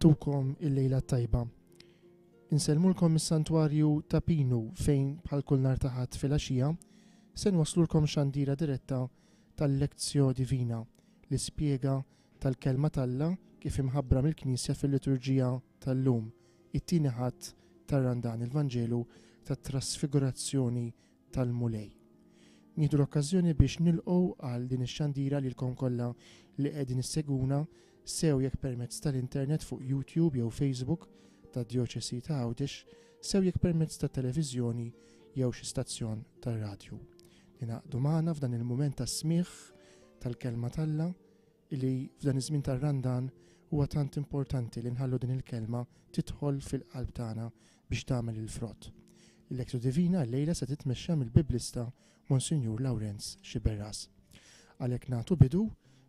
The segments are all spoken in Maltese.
Nagħtukom il-lejla t-tajba. Insellmulkom mis-Santwarju ta' Pinu fejn bħal kull nhar ta' Ħadd filgħaxija se nwasslulkom xandira diretta tal-Lectio Divina, l-ispjega tal-Kelma t'Alla kif imħabbra mill-Knisja fil-Liturġija tal-lum, it-tieni Ħadd tar-Randan, il-Vanġelu tat-Trasfigurazzjoni tal-Mulej. Nieħdu l-okkażjoni biex nilqgħu għal din ix-xandira lilkom kollha li qegħdin issegwuna sew jekk permezz tal-internet fuq YouTube jew Facebook tad-Djoċesi ta' Għawdex, sew jekk permezz tat-televiżjoni jew xi stazzjon tar-radju. Ningħaqdu magħna f'dan il-mument ta' smigħ tal-Kelma t'Alla li f'dan iż-żmien tar-Randan huwa tant importanti li nħallu din il-kelma tidħol fil-qalb tagħna biex tagħmel il-frott. Il-Lectio Divina llejla se titmexxa mill-Biblista Monsinjur Lawrenz Sciberras. Għalhekk nagħtu bidu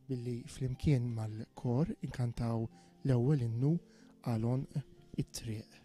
billi flimkien mal-kor inkantaw l-ewwel innu għal għonq it-triq.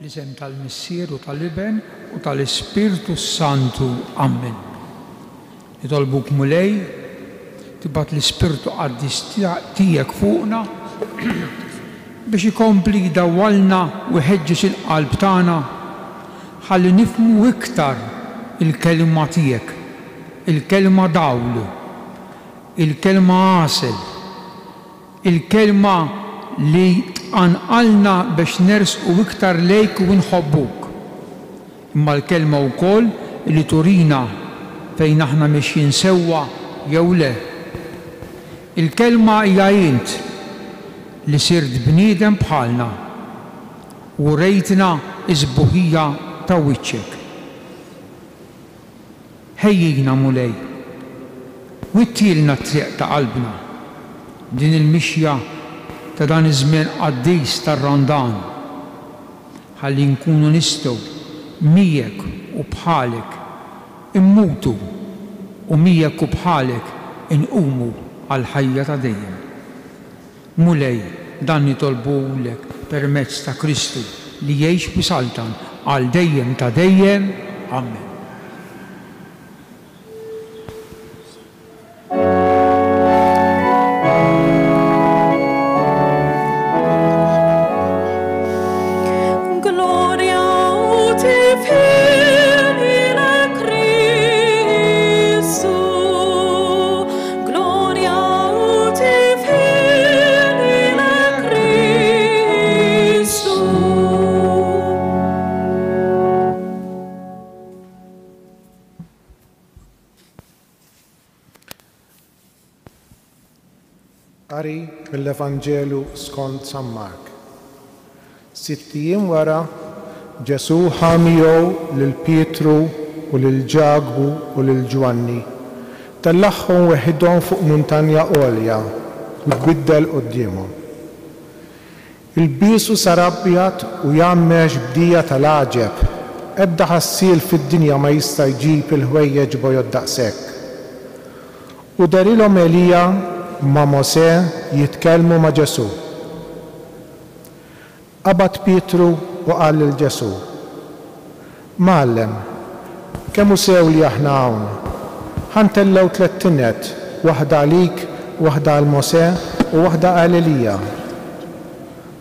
Fl-isem tal-Missier u tal-Iben u tal-Ispirtu s-Santu. Ammen. Nitolbuk Mulej, tibgħat l-Ispirtu Qaddis tiegħek fuqna biex ikompli jdawwalna u jħeġġeġ il-qalb tagħna ħalli nifhmu iktar il-Kelma tiegħek, il-Kelma dawl, il-Kelma għasel, Il-Kelma li tqanqalna biex nersqu iktar lejk u nħobbuk. Imma l-Kelma wkoll li turina fejn aħna mixjin sewwa jew le. Il-Kelma hija int li sirt bniedem bħalna u urejtna s-sbuħija ta' wiċċek. Ħejjina, Mulej. Wittielna t-triq ta' qalbna, din il-mixja ta' dan iż-żmien qaddis tar-Randan, ħalli nkunu nistgħu miegħek u bħalek immutu u miegħek u bħalek inqumu għall-ħajja ta' dejjem. Mulej, dan nitolbuhulek permezz ta' Kristu li jgħix u jsaltan għal dejjem ta' dejjem. Ammen. Qari mill-Evanġelu skont San Mark. Sitt ijiem wara, Ġesù ħa miegħu lil Pietru u lil Ġakbu u lil Ġwanni, tellagħhom weħidhom fuq muntanja għolja u tbiddel quddiemhom. Ilbiesu sar abjad u jgħammex b'dija tal-għaġeb, ebda ħassiel fid-dinja ma jista' jġib il-ħwejjeġ bojod daqshekk. U dehrilhom Elija ma' Mosè jitkellmu ma' Ġesù. Qabad Pietru u qal lil Ġesù, Mgħallem, kemm hu sew li aħna hawn! Ħa ntellgħu tlett tined, waħda għalik, waħda għal Mosè u waħda għal Elija.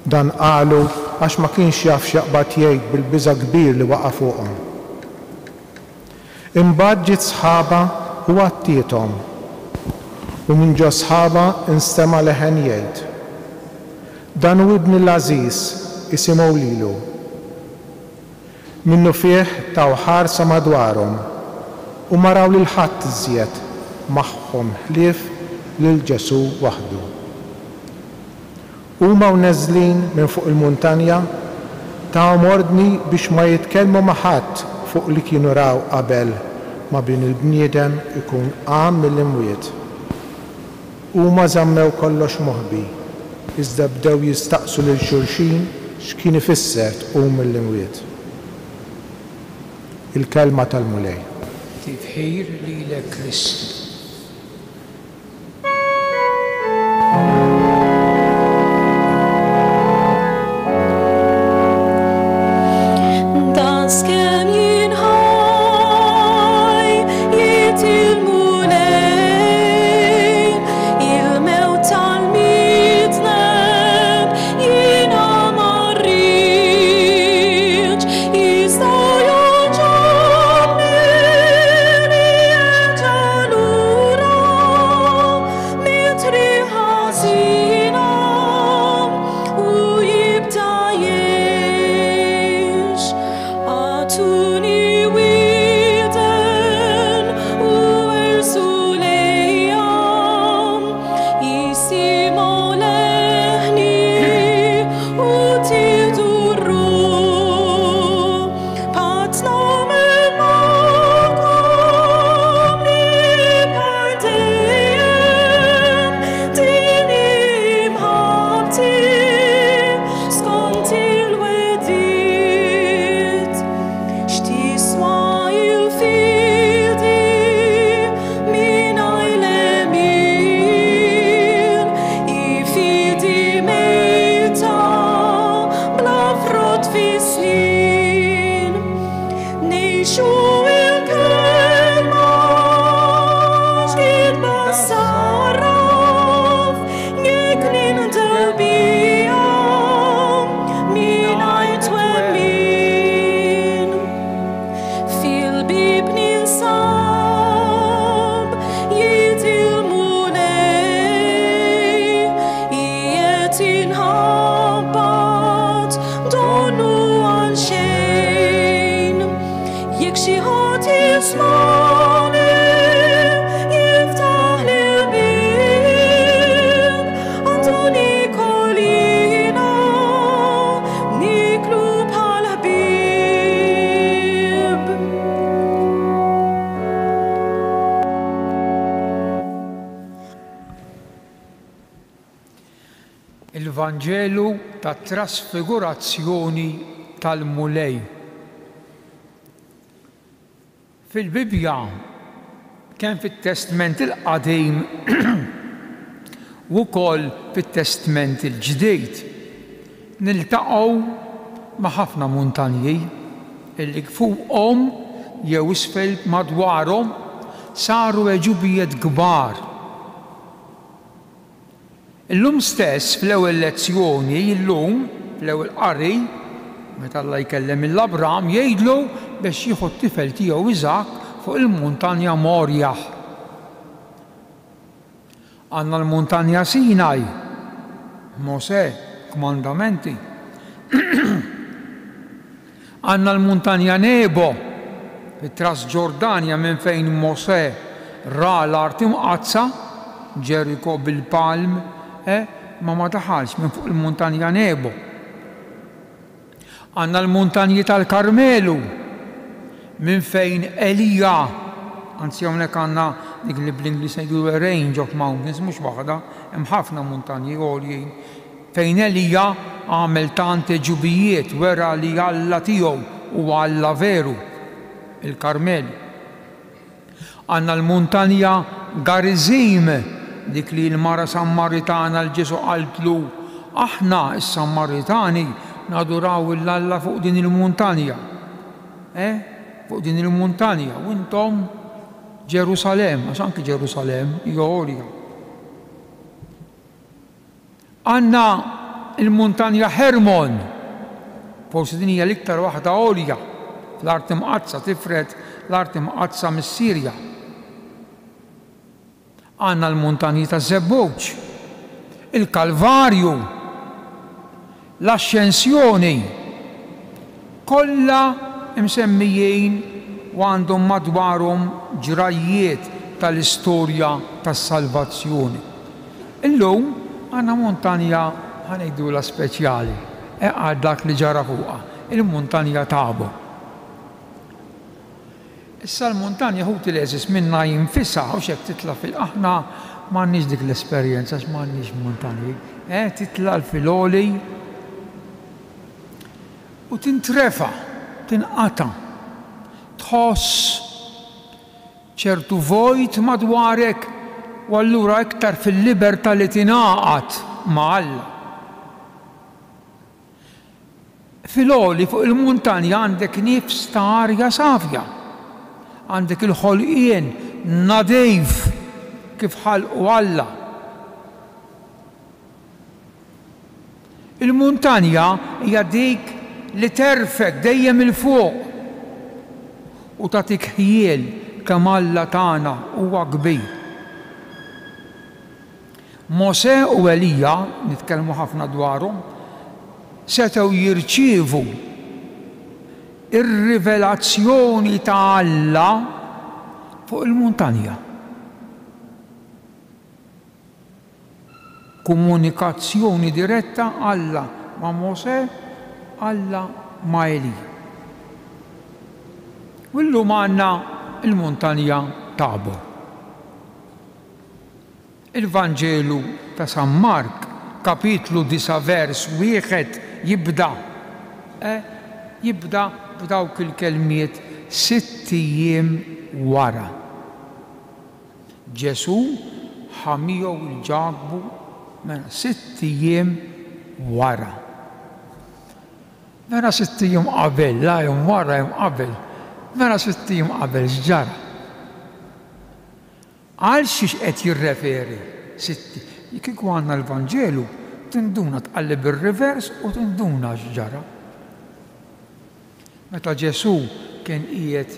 Dan qalu għax ma kienx jaf x'jaqbad jgħid bil-biża' kbir li waqa' fuqhom. Imbagħad ġiet sħaba u għattiethom, u minn ġos-sħaba nstema' leħen jgħid, Dan hu Ibni l-għażiż, isimgħu lilu. Minnufih taw ħarsa madwarhom u ma raw lil ħadd iżjed magħhom ħlief lil Ġesù waħdu. Huma u neżlin minn fuq il-muntanja, tahom ordni biex ma jitkellmu ma' ħadd fuq li kienu raw qabel ma Bin il-bniedem ikun qam mill-imwiet. Huma żammew kollox moħbi, iżda bdew jistaqsu lil xulxin x'kien ifisser tqum mill-imwiet. Il-Kelma tal-Mulej. Tifħir lilek Kristu. Il-Vanġelu tat-Trasfigurazzjoni tal-Mulej. Fil-Bibbja, kemm fit-Testment il-Qadim u wkoll fit-Testment il-Ġdid, niltaqgħu ma' ħafna muntanji illi fuqhom jew isfel madwarhom saru għeġubijiet kbar. Illum stess fl-ewwel lezzjoni, illum, fl-ewwel qari, meta Alla jkellem lil Abram jgħidlu biex jieħu t-tifel tiegħu Iżakk fuq il-muntanja Morjah. Għandna l-muntanja Sinaj, Mosè, kmandamenti. Għandna l-Muntanja Nebo, fit-Trasġordanja minn fejn Mosè ra l-Art Imqaddsa, Ġeriko bil-palm, eh, ma ma daħalx minn fuq il-muntanja Nebo. Għandna l-muntanji tal-Karmelu minn fejn Elija, anzi hawnhekk għandna dik li bl-Ingliż ngħidu range of mountains, mhux waħda, hemm ħafna muntanji għoljin, fejn Elija għamel tant għeġubijiet, wera li Alla tiegħu huwa Alla veru, il-Karmelu. Għandna l-muntanja Garizim, dik li l-mara Sammaritana 'l Ġesù qaltlu, Aħna, is-Sammaritani, naduraw 'l Alla fuq din il-muntanja. Eh? Fuq din il-muntanja. U intom Ġerusalemm, għax anki Ġerusalemm hija għolja. Għandna l-muntanja Ħermon, forsi din hija l-iktar waħda għolja fl-Art Imqaddsa, tifred l-Art Imqaddsa mis-Sirja. Għandna l-muntanji taż-Żebbuġ, il-Kalvarju, l-Axxensjoni, kollha msemmijin u għandhom madwarhom ġrajjiet tal-istorja tas-salvazzjoni. Illum għandna muntanja ħa ngħidulha speċjali għal dak li ġara fuqha, il-muntanja Tabor. Issa l-muntanja ħuti l-għeżież minnha jinfisha hux hekk titla' fil aħna m'għandniex dik l-esperjenza għax m'għandniex muntanji, eh titla' fil-għoli u tintrefa', tinqata', tħoss ċertu vojt madwarek u allura iktar fil-libertà li tingħaqad ma' Alla. Fil-għoli fuq il-muntanja għandek nifs ta' arja safja. Għandek il-ħolqien nadif kif ħalqu Alla. Il-muntanja hija dik li terfgħek dejjem 'il fuq u tagħtik ħjiel kemm Alla tagħna huwa kbir. Mosè u Elija, nitkellmu ħafna dwarhom, setgħu jirċievu r-rivelazzjoni ta' Alla fuq il-muntanja. Komunikazzjoni diretta Alla ma' Mosè, Alla ma' Elija. U llum għandna l-muntanja Tabor. Il-Vanġelu ta' San Mark, kapitlu 9 vers wieħed jibda, eh, jibda b'dawk il-kelmiet sitt ijiem wara. Ġesù ħa miegħu 'l Ġakbu mela sitt ijiem wara. Mela sitt ijiem qabel, la hemm wara hemm qabel. Mela sitt ijiem qabel x'ġara? Għal xiex qed jirreferi sitt Kieku għandna l-Vanġelu tinduna tqalleb ir-reverse u tinduna x'ġara. Meta Ġesù kien qiegħed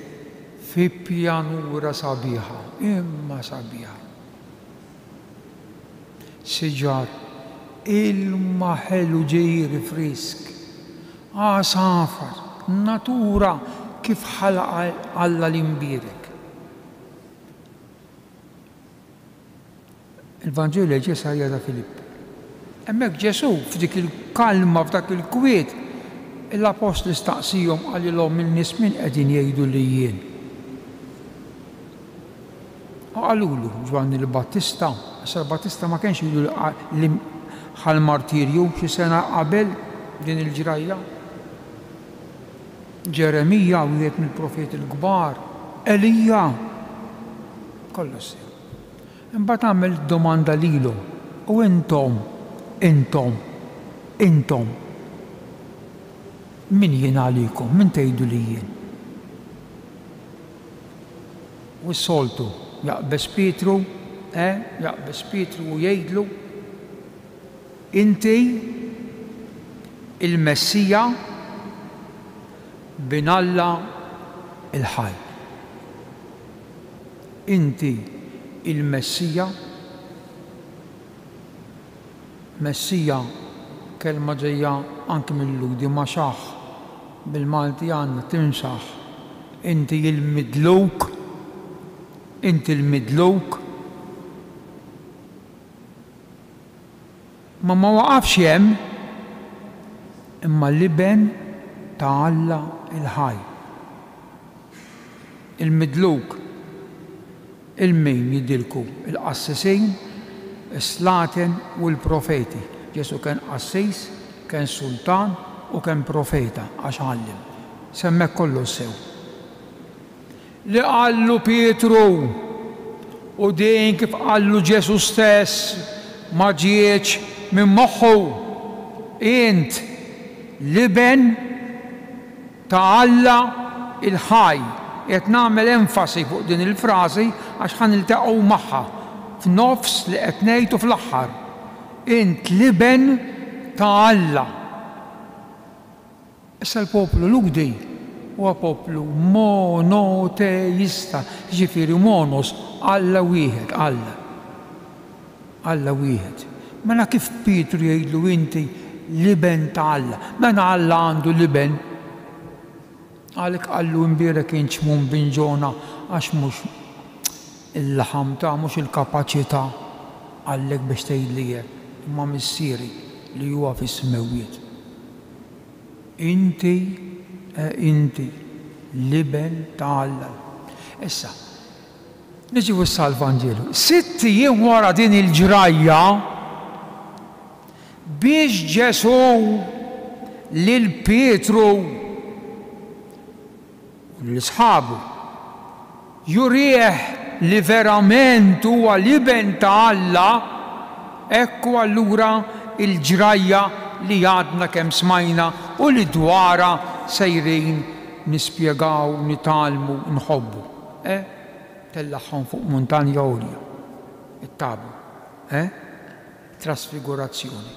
fi pjanura sabiħa, imma sabiħa. Siġar, ilma ħelu ġieri frisk, għasafar, natura kif ħalaqha Alla l-Imbierek. Il-Vanġelu jgħid Ċesarija ta' Filippi. Hemmhekk Ġesù f'dik il-kalma, f'dak il-kwiet, l-appostli staqsihom qalilhom in-nies min qegħdin jgħidu li jien? U qalulu Ġwanni l-Battista, issa l-Battista ma kienx ilu li ħa l-martirju xi sena qabel din il-ġrajja. Ġeremija, wieħed mill-profeti l-kbar, Elija, kollox sew. Imbagħad għamel domanda lilhom, U intom, intom, intom, min jien għalikom, min tgħidu li jien? U s-soltu, jaqbeż Pietru, eh, jaqbeż Pietru u jgħidlu, Inti il-Messija, Bin Alla l-ħaj. Inti il-Messija. Messija, kelma ġejja anki mil-Lhudi, maxaħ, bil-Malti għandna timsaħ. Inti il-midluk, inti l-midluk. Imma ma waqafx hemm, imma l-Iben ta' Alla l-ħaj. Il-midluk, 'il min jidilku? Il-qassisin, is-slaten u l-profeti. Ġesù kien qassis, kien sultan u kien profeta għax għallem. S'hemmhekk kollox sew. Li qallu Pietru, u din kif qallu Ġesù stess ma ġietx minn moħħu, Int l-Iben ta' Alla l-ħaj. Qiegħed nagħmel enfasi fuq din il-frażi għax ħa niltaqgħu magħha f'nofs li qed ngħid u fl-aħħar. Int l-Iben ta' Alla. Issa l-poplu Lhudi huwa poplu monoteista, jiġifieri monos, Alla wieħed, Alla. Alla wieħed. Mela kif Pietru jgħidlu inti l-Iben ta' Alla? Mela Alla għandu l-Iben? Għalhekk qallu imbierek int Xmun bin Ġona għax mhux il-laħam ta' mhux il-kapaċità qallek biex tgħidli hekk, imma Missieri li huwa fis-smewwiet. Inti, eh inti, l-Iben ta' Alla. Issa, niġu issa għall-Vanġelu. Sitt ijiem wara din il-ġrajja, biex Ġesù lil Pietru u lil sħabu jurih li verament huwa l-Iben ta' Alla, ekku allura l-ġrajja li għadna kemm smajna u li dwarha sejrin nispjegaw, nitgħallmu, nħobbu. Eh? Tellagħhom fuq muntanja għolja, it-Tabor. Eh? Trasfigurazzjoni.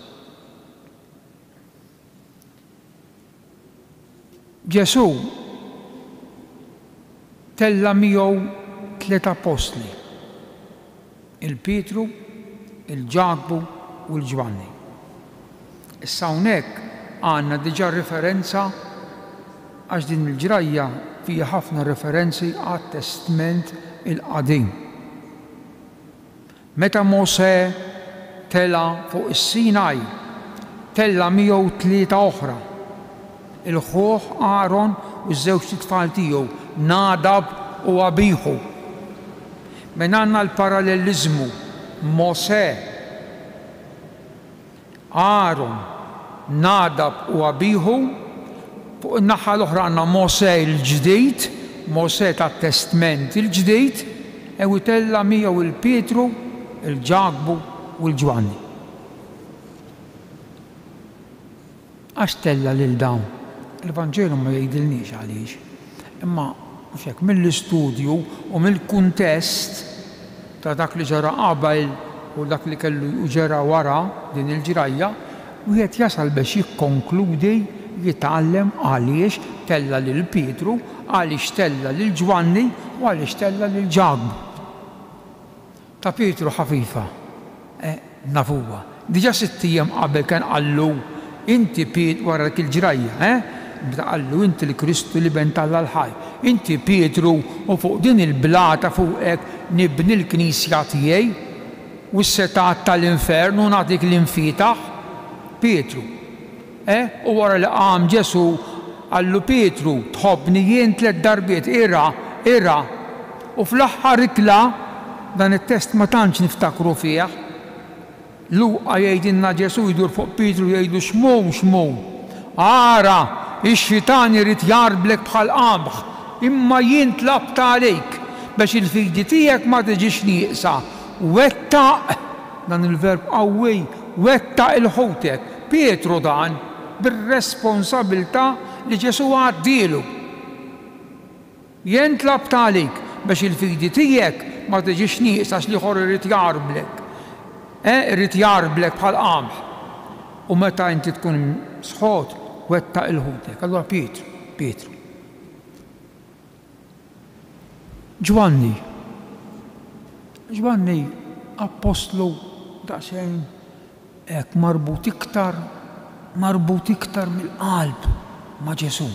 Ġesù tella' miegħu tliet appostli, il-Pietru, il-Ġakbu u l-Ġwanni. Issa hawnhekk għandna diġà riferenza għax din il-ġrajja fiha ħafna referenzi għat-Testment il-Qadim. Meta Mosè tela' fuq is-Sinaj, tella' miegħu tlieta oħra, il-ħuh Aron u ż-żewġt itfal tiegħu, Nadab u Abiħu. Minn għandna l-paralleliżmu, Mosè, Aron, Nadab u Abiħu. Fuq in-naħa l-oħra għandna Mosè l-ġdid, Mosè tat-Testment il-Ġdid, u itella' miegħu 'l Pietru, 'il Ġakbu u 'l Ġwanni. Għax tella' lil dawn? Il-Vanġelu ma jgħidilniex għaliex. Imma, mhux hekk, mill-istudju u mill-kuntest ta' dak li ġara qabel u dak li kellu ġara wara din il-ġrajja, wieħed jasal biex jikkonkludi, jitgħallem għaliex tella' lil Pietru, għaliex tella' lil Ġwanni u għaliex tella' lil Ġakbu. Ta' Pietru ħafifa, eh, nafuha. Diġà sitt ijiem qabel kien qallu, Inti Piet, wara dik il-ġrajja, eh, meta qallu, Inti l-Kristu, l-Iben t'Alla l-ħaj. Inti Pietru, u fuq din il-blata fuqek nibni l-knisja tiegħi, u s-setgħat tal-infern u nagħtik l-imfietaħ. Pietru. Eh, u wara li qam Ġesù, qallu Pietru, Tħobbni jien tlett darbiet, irgħa, irgħa. U fl-aħħar ikla, dan it-test ma tantx niftakru fih, Luqa jgħidilna Ġesù jdur fuq Pietru jgħidlu Xmun, Xmun, ara, ix-xitan irid jgħarblek bħal qamħ, imma jien tlabt għalik, biex il-fidi tiegħek ma tiġix nieqsa. Wettaq, dan il-verb qawwi, wettaq 'il ħutek. Pietru dan, bir-responsabilità li Ġesù għaddielu. Jien tlabt għalik biex il-fidi tiegħek ma tiġix nieqsa għax l-ieħor irid jgħarblek. Eh, irid jgħarblek bħal qamħ. U meta inti tkun sħot, wettaq 'il ħutek. Allura Pietru, Pietru. Ġwanni. Ġwanni appostlu daqsxejn hekk marbut iktar, marbut iktar mill-qalb ma' Ġesù.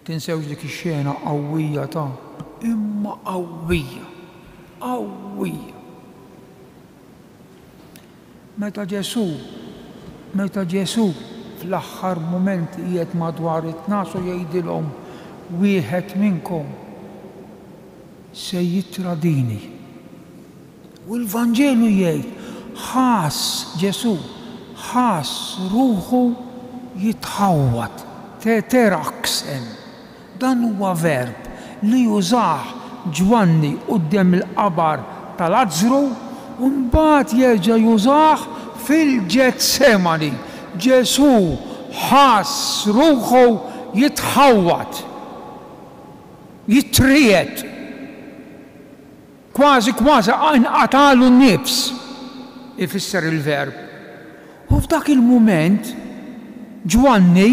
Tinsewx dik ix-xena qawwija ta' imma qawwija, qawwija. Meta Ġesù, meta Ġesù fl-aħħar mumenti qiegħed madwar it-tnax u jgħidilhom, Wieħed minnkom se jittradini. U l-Vanġelu jgħid, ħass Ġesù, ħass ruħu jitħawwad, teteraxen. Dan huwa verb li użah Ġwanni quddiem il-qabar ta' Lazzru u mbagħad jerġa' jużah fil-Ġetsemani. Ġesù ħass ruħu jitħawwad, jitriegħed. Kważi kważi inqatagħlu n-nifs, ifisser il-verb. U f'dak il-mument Ġwanni,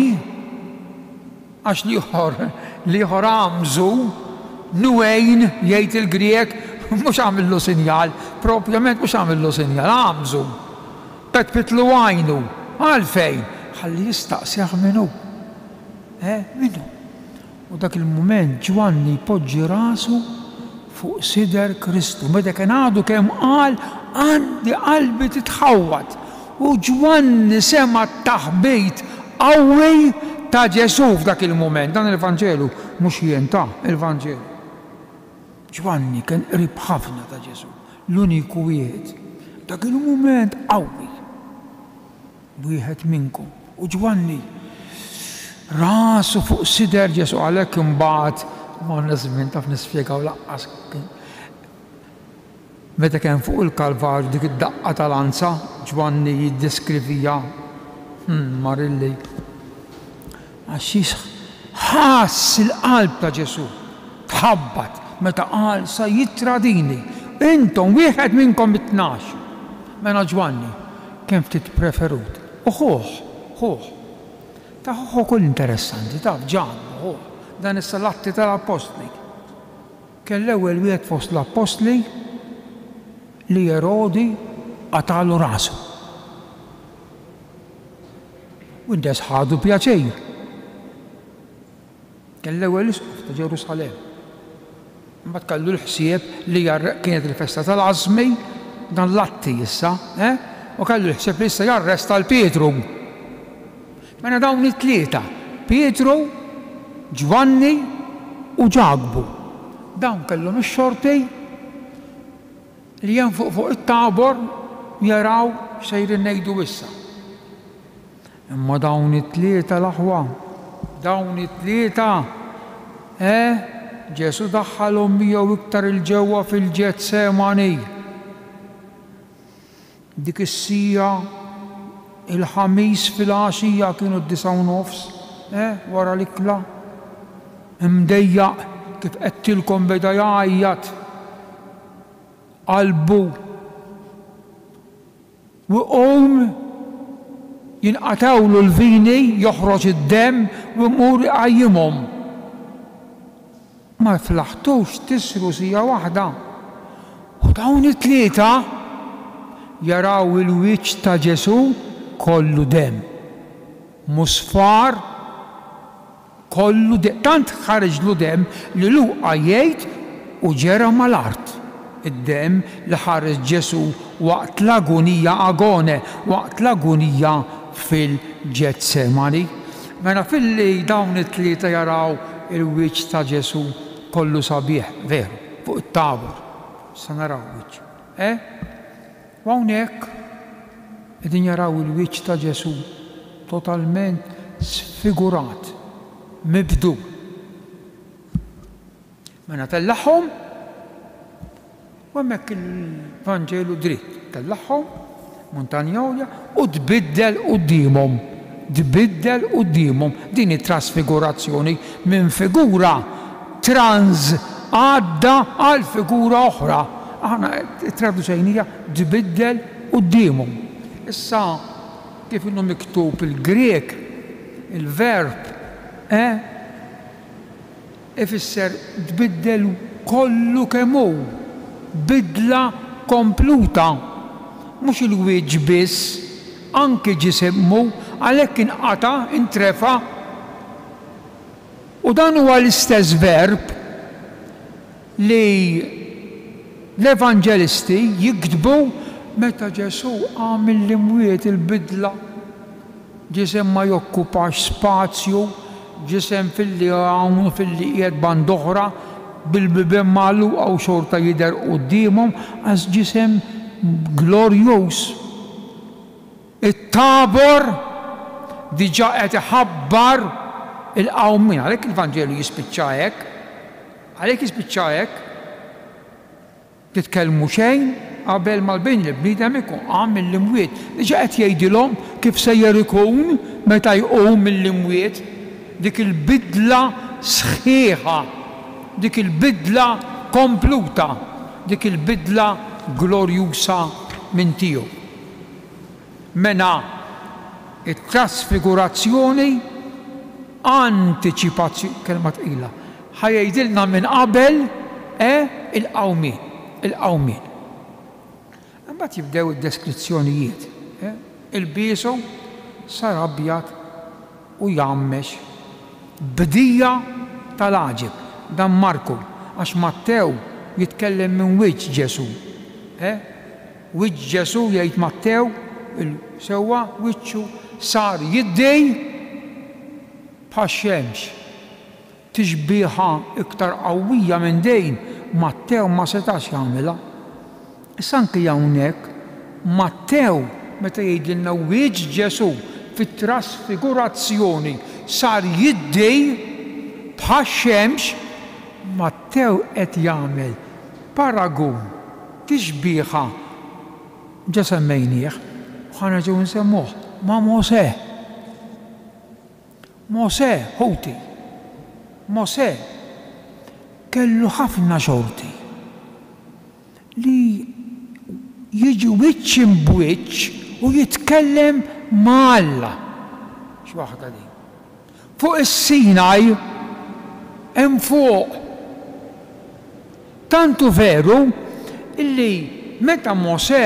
għax l-ieħor, l-ieħor għamżu, nuein jgħid il-Grieg, mhux għamillu sinjal, propjament mhux għamillu sinjal, għamżu. Petpitlu għajnu. Għalfejn? Ħalli jistaqsih min hu. Eh, min hu? U dak il-mument Ġwanni jpoġġi rasu fuq sider Kristu. Meta kien għadu kemm qal, Għandi qalbi titħawwad. U Ġwanni sema' t-taħbit qawwi ta' Ġesù f'dak il-mument. Dan il-Vanġelu mhux jien ta', il-Vanġelu. Ġwanni kien qrib ħafna ta' Ġesù, l-uniku wieħed. Dak il-mument qawwi. Wieħed minnkom. U Ġwanni rasu fuq sider Ġesù għalhekk imbagħad m'għandna żmien taf nispjegaw laqqas meta kien fuq il-Kalvarju dik id-daqqa ta' lanza Ġwanni jiddeskriviha hmm, marilli għax ħass il-qalb ta' Ġesù tħabbat meta qal sa jittradini. Intom wieħed minnkom it-tnax. Mela Ġwanni kien ftit preferut. U ħuh, ħuh. Ta' ħuh ukoll interessanti, taf, Ġakbu, ħuh. Dan issa l-Atti tal-Appostli. Kien l-ewwel wieħed fost l-Appostli li Erodi qatagħlu rasu. U n-nies ħadu pjaċir. Kien l-ewwel isqof ta' Ġerusalemm. Imbagħad kellu l-ħsieb li kienet il-festa tal-Għażmi, dan l-Atti issa, eh? U kellu l-ħsieb li issa jarresta 'l Pietru. Mela dawn it-tlieta, Pietru, Ġwanni u Ġakbu, dawn kellhom ix-xorti li jenfuq fuq it-Tabor jaraw x'sejrin ngħidu issa. Imma dawn it-tlieta l-aħwa, dawn it-tlieta, eh, Ġesù daħħalhom miegħu iktar 'il ġewwa fil-Ġetsemani. Dik is-siegħa, il-Ħamis filgħaxija kienu d-disgħa u nofs, eh, wara l-ikla. Imdejjaq kif għedtilkom beda jgħajjat qalbu. U jqum, jinqatgħulu l-vini, joħroġ id-demm u jmur iqajjimhom. Ma flaħtux tisru siegħa waħda. U dawn it-tlieta jaraw il-wiċċ ta' Ġesù kollu demm, musfar, Kollu demm, tant ħariġlu demm li Luqa jgħid u ġera mal-art. Id-demm li ħareġ Ġesù waqt l-agunija agone, waqt l-agunija fil-Ġetsemani. Mela filli dawn it-tlieta jaraw il-wiċċ ta' Ġesù kollu sabiħ, veru, fuq it-Tabor, issa naraw wiċċ, eh? U hawnhekk qegħdin jaraw il-wiċċ ta' Ġesù totalment sfigurat, mibdul. Mela tellagħhom u hemmhekk il-Vanġelu dritt, tellagħhom muntanja għolja u tbiddel quddiemhom, tbiddel quddiemhom. Din hi trasfigurazzjoni minn figura trans għadda għal figura oħra. Aħna ttraduċejnija tbiddel quddiemhom. Issa kif inhu miktub il-Grieg, il-verb eh ifisser tbiddel kollu kemm hu, bidla kompluta. Mhux il-wiċċ biss, anki ġisimmu, għalhekk inqata', intrefa'. U dan huwa l-istess verb li l-evanġelisti jiktbu Meta Ġesù qam mill-imwiet il-bidla, ġisem ma jokkupax spazju, ġisem filli hawn u filli qiegħed band'oħra, bil-bibien magħluqa u xorta jidher quddiemhom għax ġisem glorjuż. It-Tabor diġà qed iħabbar il-qawmien. Għalhekk il-Vanġelu jispiċċa hekk. Għalhekk jispiċċa hekk. Titkellmu xejn qabel ma l-Bin il-bniedem ikun qam mill-imwiet. Diġà qed jgħidilhom kif sejjer ikun meta jqum mill-imwiet. Dik il-bidla sħiħa, dik il-bidla kompluta, dik il-bidla glorjusa minn tiegħu. Mena t-trasfigurazzjoni antiċipazzjoni, kelma tqila, ħa jgħidilna minn qabel e il-qawmien, il-qawmien. Imbagħad jibdew id-deskrizzjonijiet. E, ilbiesu sar abjad u jgħammex b'dija tal-għaġeb. Dan Marku, għax Mattew jitkellem minn wiċċ Ġesù. E, Wiċċ Ġesù, jgħid Mattew, il, sewwa, wiċċu sar jiddi bħax-xemx. Tixbiha iktar qawwija minn din Mattew ma setax jagħmilha. Issa anki hawnhekk Mattew meta jgħidilna wiċċ Ġesù fit-trasfigurazzjoni sar jiddi bħax-xemx, Mattew qed jagħmel paragun, tixbiha, ġa semmejnieh u ħa nerġgħu nsemmuh, ma' Mosè. Mosè, ħuti, Mosè kellu ħafna xorti li jiġi wiċċ imb'wiċċ u jitkellem ma' Alla. X'waħda din! Fuq is-Sinaj, hemm fuq. Tant hu veru illi meta Mosè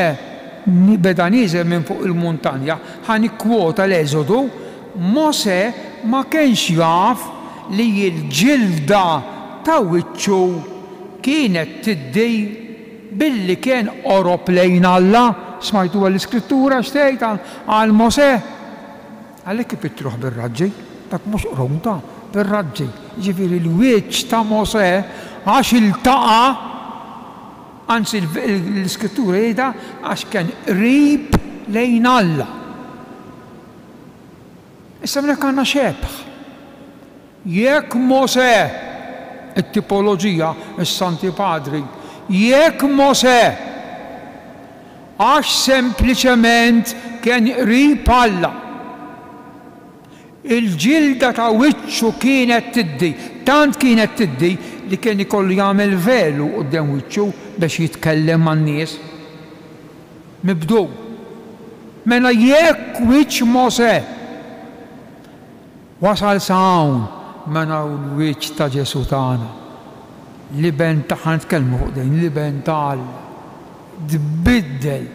beda nieżel minn fuq il-muntanja, ħa nikkwota l-Eżodu, Mosè ma kienx jaf li l-ġilda ta' wiċċu kienet tiddi billi kien qorob lejn Alla. Smajtuha l-Iskrittura x'tgħid għal Mosè? Għalhekk ipittruh bir-raġġi, dak mhux qrun ta', bir-raġġi, jiġifieri l-wiċċ ta' Mosè għax iltaqa', anzi l-Iskrittura jgħidha għax kien qrib lejn Alla. Issa hawnhekk għandna xebh. Jekk Mosè, it-tipoloġija, is-Santi Padri, jekk Mosè, għax sempliċement kien qrib Alla, il-ġilda ta' wiċċu kienet tiddi, tant kienet tiddi li kien ikollu jagħmel velu quddiem wiċċu biex jitkellem man-nies. Mibdul. Mela jekk wiċċ Mosè Wasal sa hawn mela hu l-wiċċ ta' Ġesù tagħna, l-Iben ta' ħa nitkellmu fuq din, l-Iben ta' Alla. Tbiddel.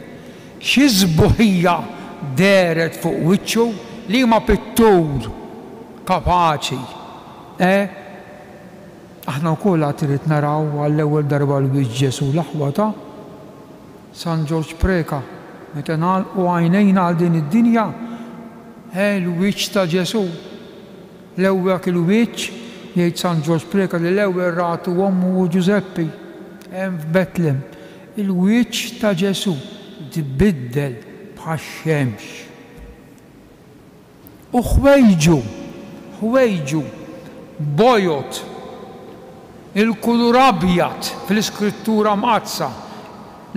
Xi sbuħija dehret fuq wiċċu, liema pittur kapaċi, eh? Aħna wkoll għad irid naraw għall-ewwel darba l-wiċċ Ġesù, l-aħwa ta' San Ġorġ Preca, meta nagħlqu għajnejna għal din id-dinja, eh, l-wiċċ ta' Ġesù. L-ewwel dak il-wiċċ, jgħid San Ġorġ Preca, li l-ewwel ratu ommu u Ġużeppi, hemm f'Betlem. Il-wiċċ ta' Ġesù tbiddel bħax-xemx. U ħwejġu, ħwejġu, bojod, il-kulur abjad fl-Iskrittura Mqaddsa,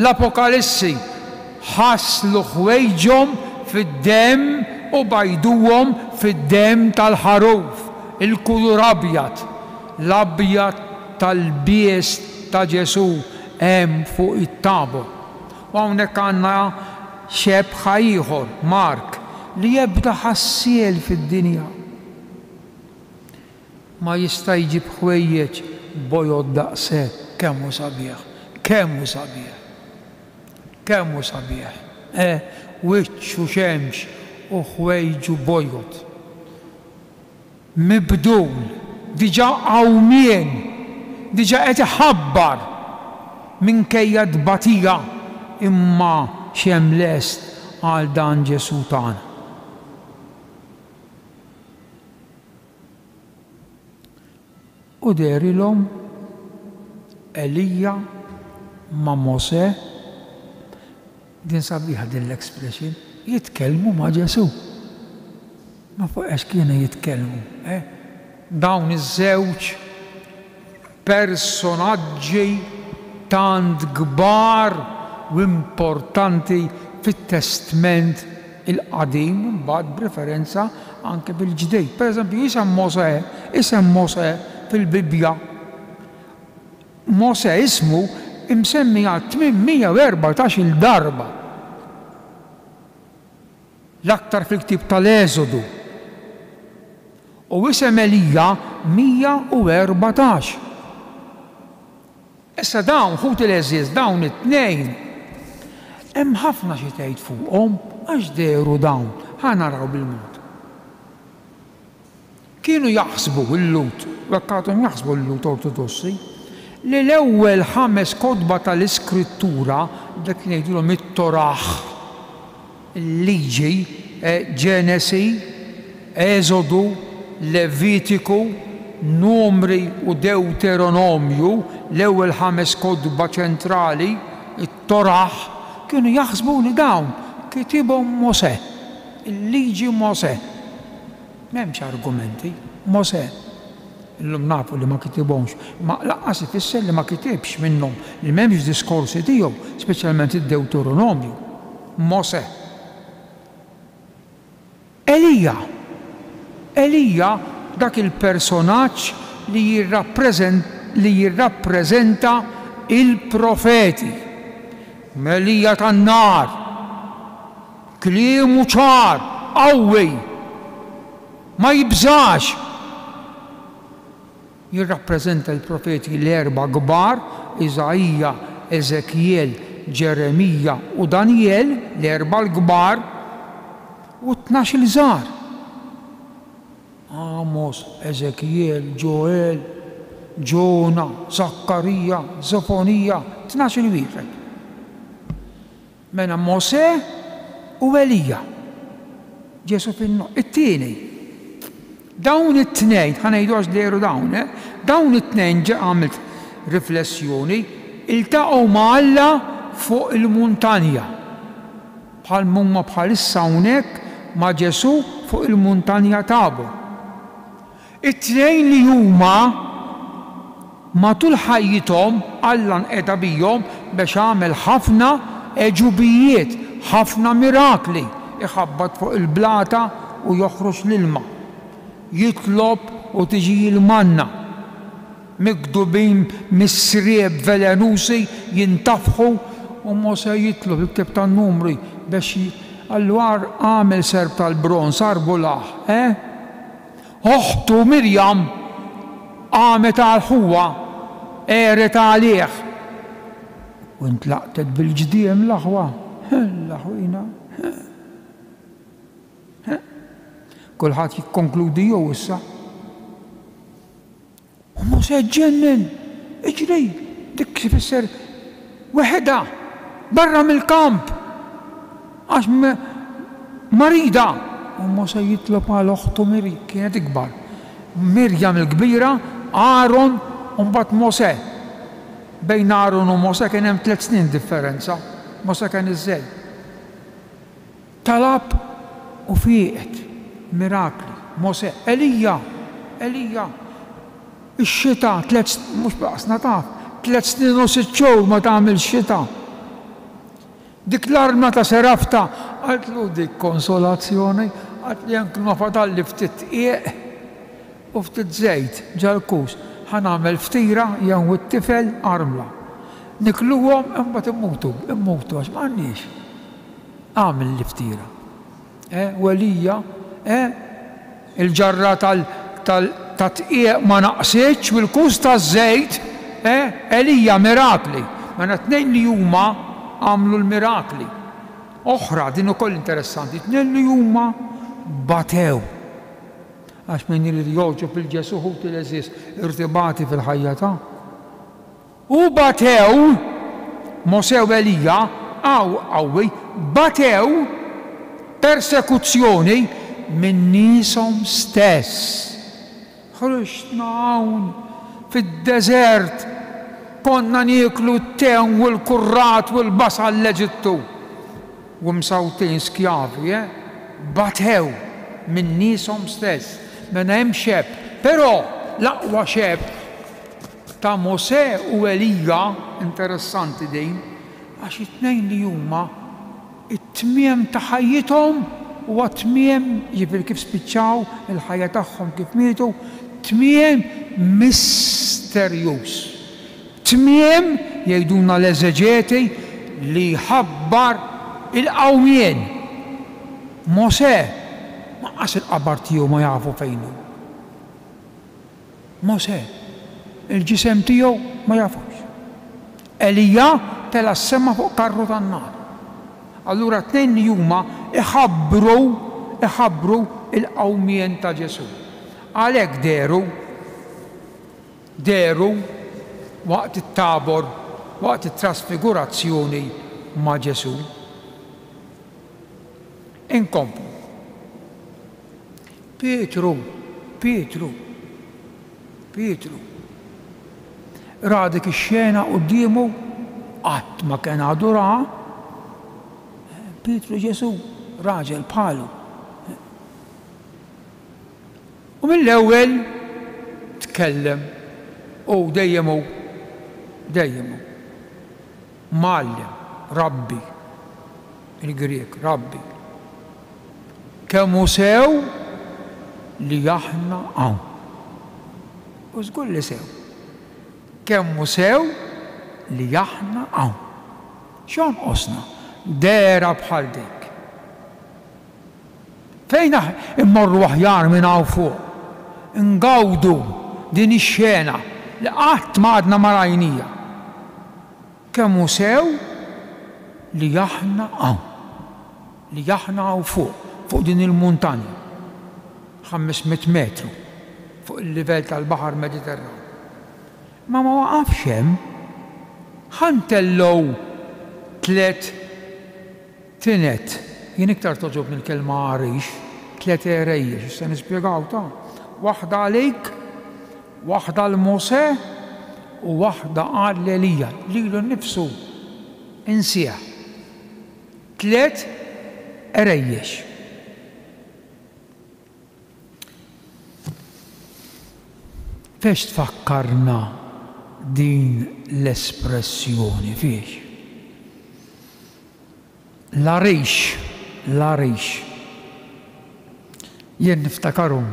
l-Apokalissi, ħaslu ħwejġhom fid-demm u bajduhom fid-demm tal-Ħaruf, il-kulur abjad, l-abjad tal-lbies ta' Ġesù hemm fuq it-Tabor. U hawnhekk għandna xebħa ieħor, Mark, li ebda ħassiel fid-dinja ma jista' jġib ħwejjeġ bojod daqshekk. Kemm hu sabiħ! Kemm hu sabiħ! Kemm hu sabiħ! Eh, wiċċu xemx u ħwejġu bojod. Mibdul, diġà qawmien, diġà qed iħabbar minkejja t-tbatija, imma x'hemm lest għal dan Ġesù tagħna. U dehrilhom Elija ma' Mosè, din sabiħa din l-expression, jitkellmu ma' Ġesù. Ma fuq ex kienu jitkellmu, eh? Dawn iż-żewġ personaġġi tant kbar u importanti fit-Testment il-Qadim imbagħad b'referenza anke fil-Ġdid. Per eżempju, isem Mosè, isem Mosè fil-Bibbja, Mosè ismu imsemmi għal 814-il darba. L-aktar fil-ktieb tal-Eżodu. U isem Elija 114. Issa dawn, ħuti l-għeżież, dawn it-tnejn, hemm ħafna xi tgħid fuqhom għax dehru dawn. Ħa naraw bil-mod. Kienu jaħsbu l-Lhud, u hekk għadhom jaħsbu l-Lhud Ortodossi, li l-ewwel ħames kotba tal-Iskrittura, dak li ngħidulhom it-Torah, il-Liġi, Ġenesi, Eżodu, Levitiku, Numri u Dewteronomju, l-ewwel ħames kotba ċentrali, it-Torah, kienu jaħsbu li dawn kitibhom Mosè, il-Liġi Mosè. M'hemmx argumenti. Mosè. Illum nafu li ma kitibhomx, imma lanqas ifisser li ma kitibx minnhom, li m'hemmx diskorsi tiegħu, speċjalment id-Dewteronomju. Mosè. Elija. Elija dak il-personaġġ li li jirrappreżenta il-profeti. Elija tan-nar. Kliemu ċar, qawwi. Ma jibżax. Jirrappreżenta l-profeti l-erbgħa kbar, Iżaija, Eżekjel, Ġeremija u Danjel, l-erbgħa l-kbar, u t-tnax-il żgħar, Għamos, Eżekjel, Ġoel, Ġona, Żakkarija, Żofonija, tnax-il wieħed. Mela Mosè u Elija. Ġesù fin-nofs. It-tieni. Dawn it-tnejn, ħa ngħidu għax dehru dawn, eh, dawn it-tnejn ġa għamilt riflessjoni, iltaqgħu ma' Alla fuq il-muntanja. Bħal m'huma bħalissa hawnhekk ma' Ġesù fuq il-muntanja Tabor. It-tnejn li huma matul ħajjithom Alla nqeda bihom biex għamel ħafna għeġubijiet, ħafna mirakli, iħabbat fuq il-blata u joħroġ l-ilma, jitlob u tiġi l-manna, migdubin mis-sriep velenusi jintafħu u Mosè jitlob, il-Ktieb tan-Numri, biex qallu agħmel serp tal-bronż, arbulah, eh? Oħtu Mirjam qamet għal ħuha, għeret għalih. U ntlaqtet bil-ġdiem l-aħwa. L-aħwina. Kulħadd jikkonkludi hu issa. U Mosè ġġennen, Iġri! Dik tfisser weħidha, barra mill-kamp, għax marida. U Mosè jitlob għal oħtu Mirjam, kienet ikbar. Mirjam il-kbira, Aron u mbagħad Mosè. Bejn Aron u Mosè kien hemm tliet snin differenza. Mosè kien iż-żgħir. Talab u fieqet. Mirakli. Mosè. Elija! Elija! Ix-xita tliet mhux b'qasna taf, tliet snin u sitt xhur ma tagħmilx xita. Dik l-armla ta' Serafta qaltlu dik konsolazzjoni, qaltlu jekk ma fadalli ftit dqiq u ftit żejt ġal-kus, ħa nagħmel ftira jien u t-tifel armla. Nikluhom imbagħad immutu, immutu għax m'għandniex. Agħmel l-iftira. Eh, u Elija, eh, il-ġarra tal, tal, tat-tqieq ma naqsitx u l-kus taż-żejt, eh, Elija, mirakli. Mela t-tnejn li huma għamlu l-mirakli. Oħra, din ukoll interessanti, t-tnejn li huma batew. Għax min irid jogħġob 'il Ġesù ħuti l-għeżież irid ibati fil-ħajja ta'. U batew, Mosè u Elija, Hawn qawwi, batew persekuzzjoni minn nieshom stess. Ħriġtna hawn fid-deżert, konna nieklu t-tewm u l-kurrat u l-basal l-Eġittu. U msawtin skjavi, eh? Batew minn nieshom stess. Mela hemm xebh. Però l-aqwa xebh ta' Mosè u Elija, interessanti din, għax it-tnejn li huma it-tmiem ta' ħajjithom huwa tmiem, jiġifieri kif spiċċaw il-ħajja tagħhom kif mietu, tmiem misterjuż. Tmiem, jgħidulna l-eżeġeti, li jħabbar il-qawmien. Mosè, lanqas il-qabar tiegħu ma jafu fejn hu. Mosè, il-ġisem tiegħu ma jafux. Elija tela' s-sema fuq karru tan-nar. Allura t-tnejn li huma iħabbru, iħabbru l-qawmien ta' Ġesù. Għalhekk dehru, dehru waqt it-Tabor, waqt it-trasfigurazzjoni ma' Ġesù. Inkomplu. Pietru, Pietru, Pietru, ra dik ix-xena quddiemu, qatt ma kien għadu raha. Pietru Ġesù, raġel bħalu. U mill-ewwel tkellem, u dejjem hu, dejjem hu. Mgħallem, rabbi, il-Grieg, rabbi. Kemm hu sew li aħna hawn. U żgur li sew. Kemm hu sew li aħna hawn. X'jonqosna? Dehra bħal dik. Fejn immorru aħjar minn hawn fuq? Ingawdu din ix-xena li qatt ma għadna ma rajnija. Kemm hu sew li aħna hawn, li aħna hawn fuq, fuq din il-muntanja, 500 metru fuq il-livell tal-Baħar Mediterran. Imma ma waqafx hemm. Ħa ntellgħu tlett tined, jien iktar togħġobni l-kelma għarix, tlett għerejjex, issa nispjegaw ta', waħda għalik, Waħda għal Mosè u waħda għal Elija, lilu nnifsu insieha. Tliet għerejjex. Fiex tfakkarna din l-espressjoni? Fiex? L-għarix, l-għarix. Jien niftakarhom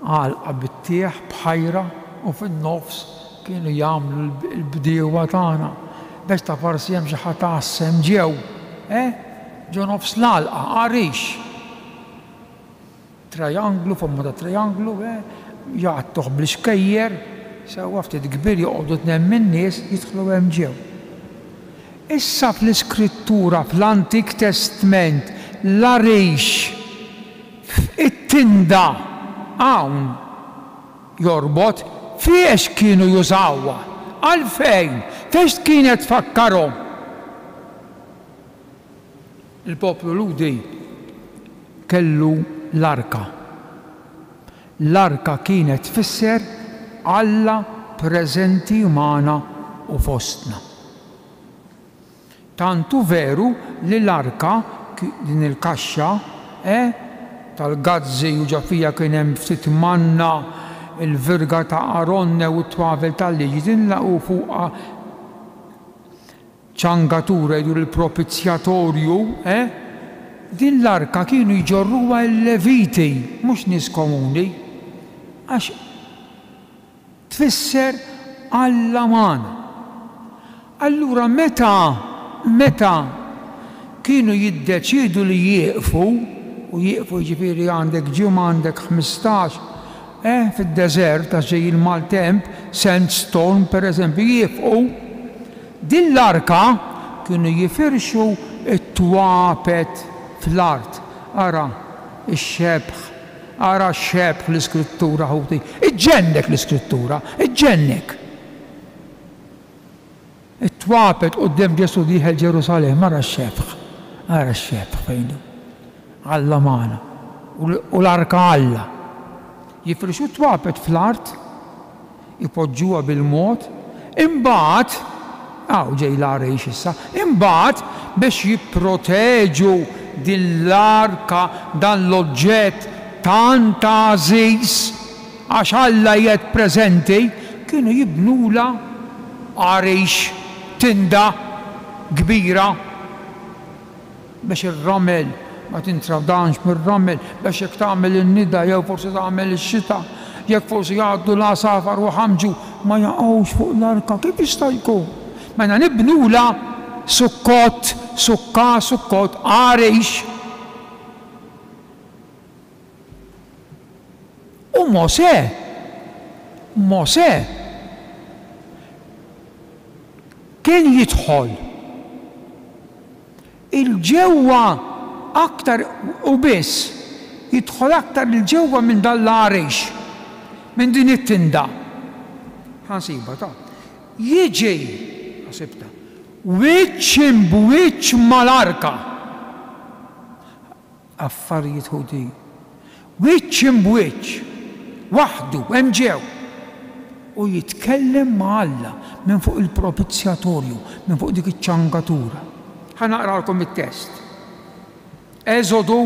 għalqa bit-tieħ b'ħajra u fin-nofs kienu jagħmlu l-bdiewa tagħna biex ta' forsi hemm xi ħadd għassem ġew, eh, ġo nofs l-għalqa, għarix. Trianglu, forma ta' trianglu, eh, jgħattuh bl-ixkejjer, sewwa ftit kbir joqogħdu tnejn min-nies jidħlu hemm ġew. Issa fl-Iskrittura fl-Antik Testment l-għarix f'it-tinda hawn jorbot fiex kienu jużawha? Għalfejn? Fiex kienet tfakkarhom? Il-poplu Lhudi kellu l-arka. L-arka kienet tfisser Alla preżenti magħna u fostna. Tant hu veru li l-arka, din il-kaxxa, eh, tal-gazzi u ġo fiha kien hemm ftit manna, il-virga ta' Aronne u t-twavel tal-liġi, din la u fuqha ċangatura jgħidu l-propizjatorju, eh? Din l-arka kienu jġorruha l-Leviti, mhux nies komuni, għax tfisser Alla magħna. Allura meta, meta kienu jiddeċiedu li jieqfu, u jieqfu jiġifieri għandek ġimgħa, għandek 15, eh, fid-deżert għax ġej il-maltemp, sandstorm pereżempju, jieqfu, Din l-arka kienu jifirxu t-twapet fl-art. Ara x-xebh, ara x-xebh l-Iskrittura, ħuti. Iġġennek l-Iskrittura, iġġennek. It-twapet quddiem Ġesù dieħel Ġerusalemm, ara x-xebh, ara x-xebh fejn hu. Alla magħna u l-arka Alla. Jifrxu t-twapet fl-art, ipoġġuha bil-mod, imbagħad, hawn ġej l-għarix issa, imbagħad biex jipproteġu din l-arka, dan l-oġġett tant għażiż, għax Alla qiegħed preżenti, kienu jibnulha għarix, tinda kbira, biex ir-ramel ma tintradanx mir-ramel, biex jekk tagħmel in-nida jew forsi tagħmel ix-xita, jekk forsi jgħaddu l-għasafar u jħammġu, ma jaqgħux fuq l-arka. Kif jista' jkun? Mela nibnulha sukkott, sukka, sukkott, għarix. U Mosè, Mosè kien jidħol 'il ġewwa aktar u biss jidħol aktar 'il ġewwa minn dan l-għarix, minn din it-tinda. Ħa nsibha, ta. Jiġi, ħsibtha, wiċċ imb'wiċċ mal-arka. Affarijiet ħuti. Wiċċ imb'wiċċ, waħdu, hemm ġew. U jitkellem ma' Alla minn fuq il-propizjatorju, minn fuq dik iċ-ċangatura. Ħa naqralkom it-test. Eżodu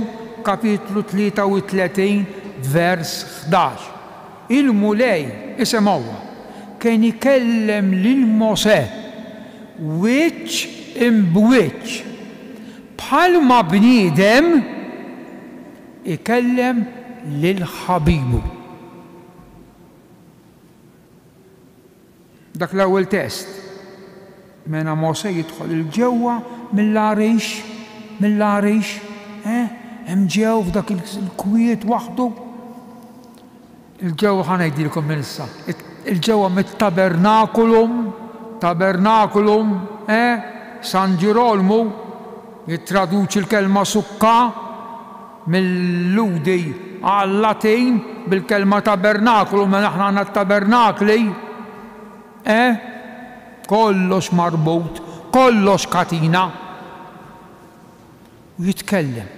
kapitlu 33 vers 11. Il-Mulej, isimgħuha, kien ikellem lil Mosè wiċċ imb'wiċċ. Bħalma bniedem ikellem lil ħabibu. Dak l-ewwel test. Mela Mosè jidħol 'il ġewwa mill-għarix, mill-għarix, eh, hemm ġew f'dak il-kwiet waħdu. 'Il ġewwa ħa ngħidilkom minn issa, 'il ġewwa mit-tabernakulum, tabernakulum, eh, San Ġirolmu jittraduċi l-kelma sukka mil-Lhudi għal-Latin bil-kelma tabernakulum, mela aħna għandna t-tabernakli, eh, kollox marbut, kollox katina. U jitkellem.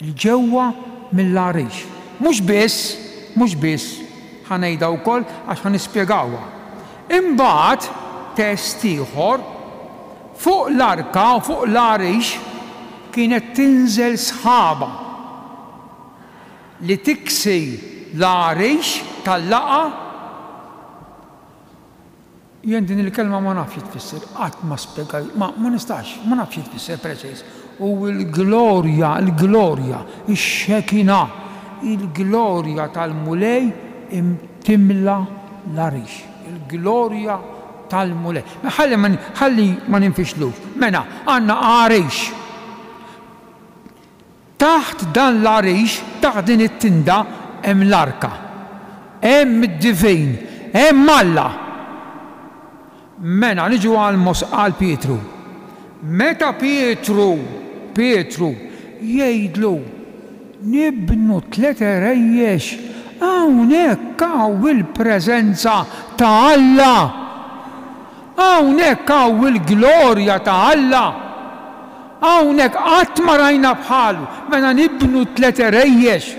'Il ġewwa mill-għarix. Mhux biss, mhux biss, ħa ngħidha wkoll għax ħa nispjegawha. Imbagħad, test ieħor, fuq l-arka u fuq l-għarix kienet tinżel sħaba li tiksi l-għarix tal-laqgħa, Jien din il-kelma ma nafx xi tfisser, qatt ma spjegajt, ma, ma nistax, ma nafx xi tfisser preċiż. U l-glorja, il-glorja, ix-Shekinah, il-glorja tal-Mulej timla l-għarix. Il-glorja tal-Mulej. Mela ħalli ma, ħalli ma ninfixlux. Mela, għandna għarix. Taħt dan l-għarix, taħt din it-tinda, hemm l-arka. Hemm id-divin. Hemm Alla! Mela, niġu għal Mos, għal Pietru. Meta Pietru, Pietru, jgħidlu, Nibnu tlett għerejjex, hawnhekk hawn il-preżenza ta' Alla! Hawnhekk hawn il-glorja ta' Alla! Hawnhekk qatt ma rajna bħalu, mela nibnu tlett għerejjex,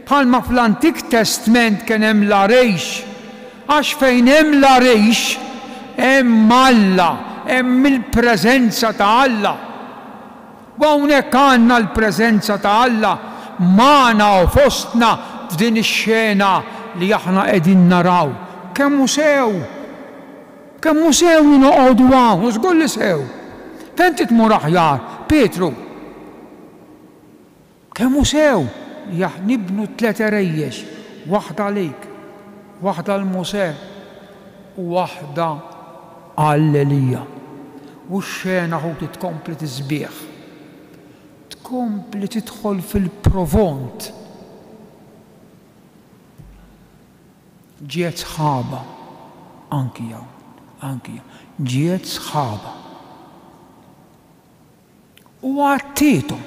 bħalma fl-Antik Testment kien hemm l-għarix, għax fejn hemm l-għarix, hemm Alla, hemm il-preżenza ta' Alla. U hawnhekk għandna l-preżenza ta' Alla magħna u fostna f'din ix-xena li aħna qegħdin naraw. Kemm hu sew! Kemm hu sew li noqogħdu hawn, u żgur li sew. Fejn trid tmur aħjar, Pietru? Kemm hu sew li aħ nibnu tlett għerejjex, waħda għalik, waħda għal Mosè u waħda għal Elija. U x-xena ħuti tkompli tisbieħ. Tkompli tidħol fil-provont. Ġiet sħaba anki hawn, anki hawn. Ġiet sħaba. U għattiethom.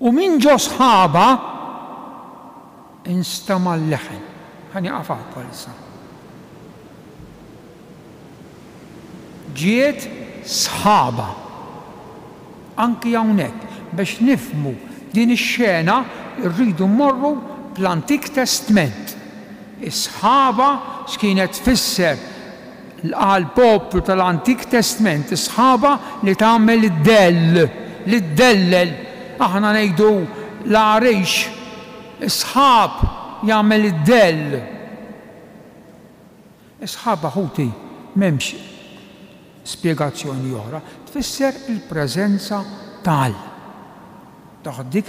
U minn ġo sħaba instama' l-leħen. Ħa nieqaf hawn bħalissa. Ġiet sħaba. Anki hawnhekk, biex nifhmu din ix-xena rridu mmorru fl-Antik Testment. Is-sħaba x'kienet tfisser għall-poplu tal-Antik Testment, is-sħaba li tagħmel id-dell, li ddellel. Aħna ngħidu l-għarix, is-sħab jagħmel id-dell. Is-sħaba ħuti m'hemmx spjegazzjoni oħra, tfisser il-preżenza ta' Alla. Taħt dik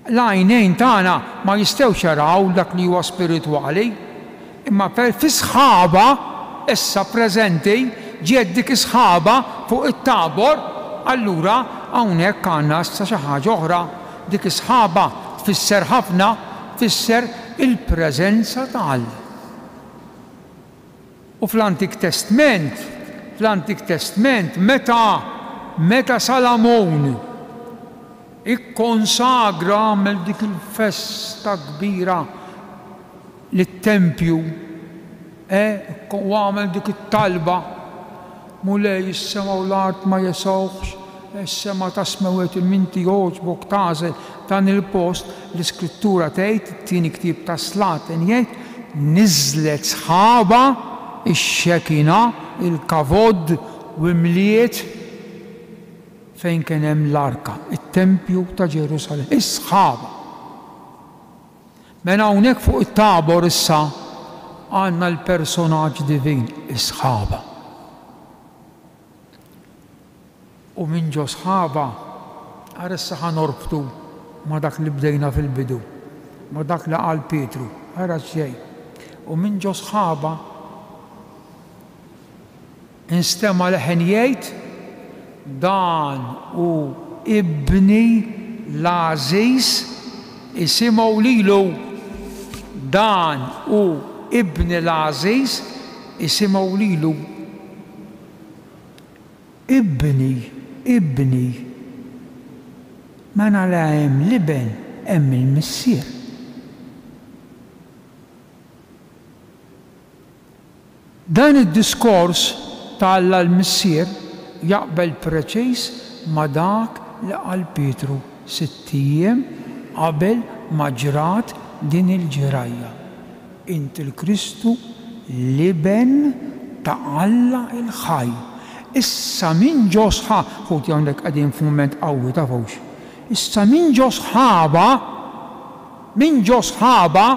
l-għajnejn tagħna ma jistgħux jaraw dak li huwa spiritwali, imma fi sħaba issa preżenti ġiet dik is-sħaba fuq it-Tabor, allura hawnhekk għandna issa xi ħaġa oħra. Dik is-sħaba tfisser ħafna, tfisser il-preżenza ta' Alla. U fl-Antik Testment, fl-Antik Testment, meta, meta Salamun ikkonsagra, għamel dik il-festa kbira lit-tempju, eh, u għamel dik it-talba, Mulej, is-sema u l-art ma jesgħuhx, is-sema ta' smewwiet imma inti għoġbok tagħżel dan il-post, l-Iskrittura tgħid, it-tieni ktieb tas-Slaten jgħid, Niżlet sħaba, ix-Xekina, il-Kavod, u imliet fejn kien hemm l-arka, it-tempju ta' Ġerusalemm. Is-sħaba. Mela hawnhekk fuq it-Tabor issa għandna l-personaġġ divin, is-sħaba. U minn ġo sħaba, ara issa ħa norbtu ma' dak li bdejna fil-bidu, ma' dak li qal Pietru, ara x'ġej. U minn ġo sħaba instema' leħen jgħid, Dan hu Ibni l-għażiż, isimgħu lilu. Dan hu Ibni l-għażiż, isimgħu lilu. Ibni, ibni. Mela la hemm l-Iben, hemm il-Missier. Dan id-diskors ta' Alla l-Missier jaqbel preċiż ma' dak li qal Pietru sitt ijiem qabel ma ġrat din il-ġrajja. Int il-Kristu, l-Iben ta' Alla l-ħaj. Issa minn ġo sħa, ħuti hawnhekk qegħdin f'mument qawwi tafux. Issa minn ġo sħaba, minn ġo sħaba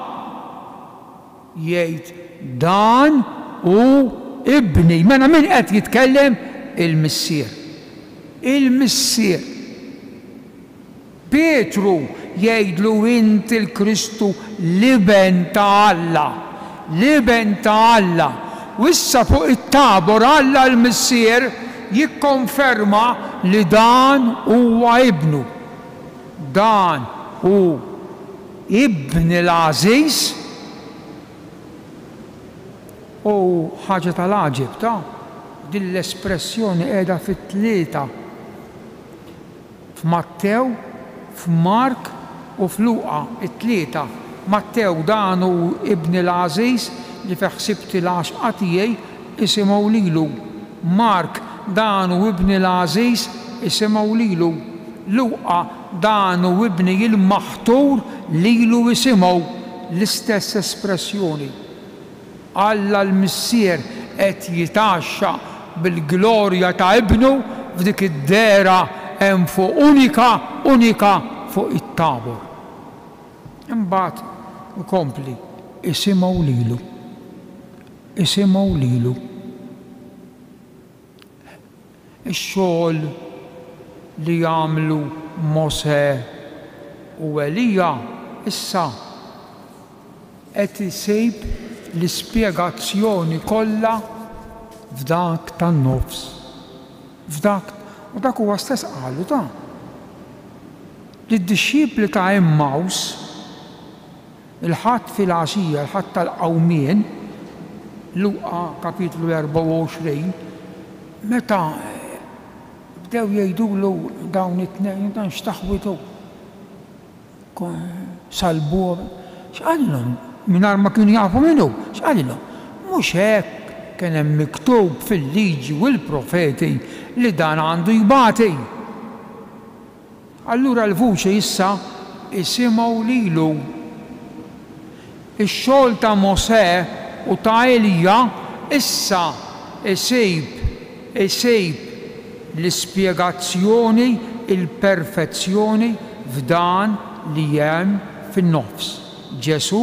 jgħid dan hu Ibni. Mela min qed jitkellem? Il-Missier. Il-Missier. Pietru jgħidlu int il-Kristu l-Iben ta' Alla. L-Iben ta' Alla. U issa fuq it-Tabor Alla l-Missier jikkonferma li dan huwa Ibnu. Dan hu Ibni l-għażiż. U ħaġa tal-għaġeb ta', din l-espressjoni qiegħda fit-tlieta. F'Mattew, f'Mark u f'Luqa, it-tlieta. Mattew, Dan hu Ibni l-għażiż, li fih ħsibti l-għaxqa tiegħi, isimgħu lilu. Mark, Dan hu Ibni l-għażiż, isimgħu lilu. Luqa, Dan hu Ibni il-maħtur, lilu isimgħu. L-istess espressjoni. Alla l-Missier qed jitgħaxxaq bil-glorja ta' Ibnu f'dik id-dehra hemm fuq unika, unika fuq it-Tabor. Imbagħad ikompli, Isimgħu lilu. Isimgħu lilu. Ix-xogħol li għamlu Mosè u Elija issa qed isib l-ispjegazzjoni kollha f'dak tan-nofs. F'dak, u dak huwa stess qalu ta'. Lid-dixxipli ta' Għemmaws, Il-Ħadd filgħaxija, il-Ħadd tal-Qawmien, Luqa kapitlu 24, meta bdew jgħidulu dawn it-tnejn, dan x'taħwitu? Salbuhom. X'qalilhom? Mingħajr ma kienu jafu min hu, x'qalilhom? Mhux hekk. Kien hemm miktub fil-Liġi u l-Profeti li dan għandu jbati. Allura l-vuċi issa isimgħu lilu. Ix-xogħol ta' Mosè u ta' Elija issa jsib isib l-ispjegazzjoni, il-perfezzjoni f'dan li hemm fin-nofs, Ġesù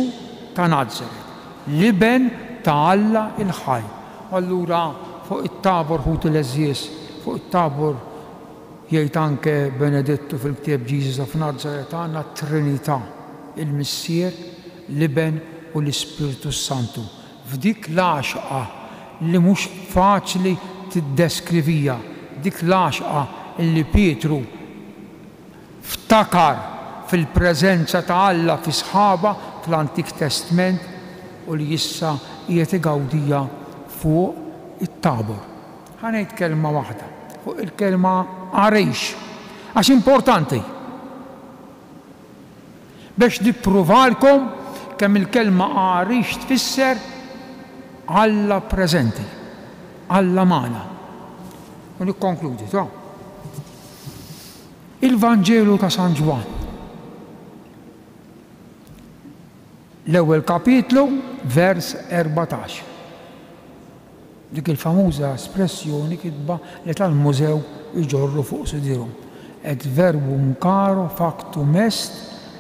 ta' Nazaret, l-Iben ta' Alla l-ħaj. U allura fuq it-Tabor, ħuti l-għeżież, fuq it-Tabor, Jgħid anke Benedittu fil-ktieb Jesus of Nazareth għandna t-Trinità, il-Missier, l-Iben u l-Ispirtu s-Santu, f'dik l-għaxqa li mhux faċli tiddeskrivija, dik l-għaxqa li Pietru ftakar fil-preżenza ta' Alla fi sħaba fl-Antik Testment u li issa qiegħed igawdija fuq it-Tabor. Ħa ngħid kelma waħda fuq il-kelma għarix, għax importanti. Biex nippruvalkom kemm il-kelma għarix tfisser Alla preżenti, Alla magħna. U nikkonkludi, ta. Il-Vanġelu ta' San Ġwann. L-ewwel kapitlu, vers 14. Dik il-famuża espressjoni kitba li tal-mużew iġorru fuq sidirhom, Et verbum caro factum est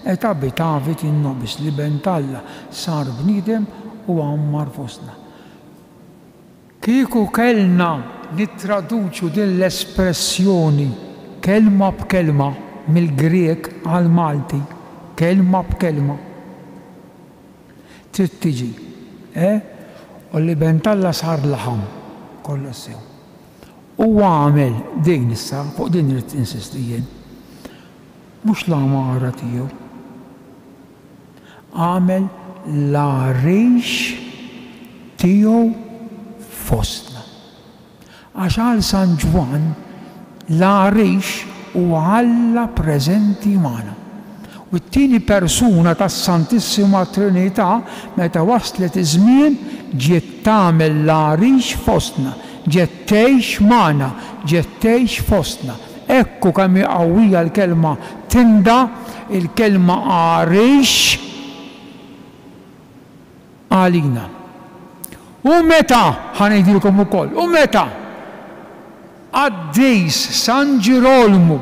et habitavit in nobis, l-Iben t'Alla sar bniedem u għammar fostna. Kieku kellna nittraduċu din l-espressjoni kelma b'kelma mill-Grieg għall-Malti, kelma b'kelma, Trid tiġi, eh? U l-Iben t'Alla sar laħam, kollox sew. U għamel din issa, fuq din irrid insisti jien. Mhux l-għamara tiegħu. Għamel l-għarix tiegħu fostna. Għax għal San Ġwann l-għarix huwa Alla preżenti magħna. U t-tieni persuna tas-Santissima Trinità meta waslet iż-żmien ġiet tagħmel l-għarix fostna, ġiet tgħix magħna, ġiet tgħix fostna. Ekku kemm hi qawwija l-kelma tinda, il-kelma għarix. Għalina. U meta, ħa ngħidilkom ukoll, u meta qaddis San Ġirolmu,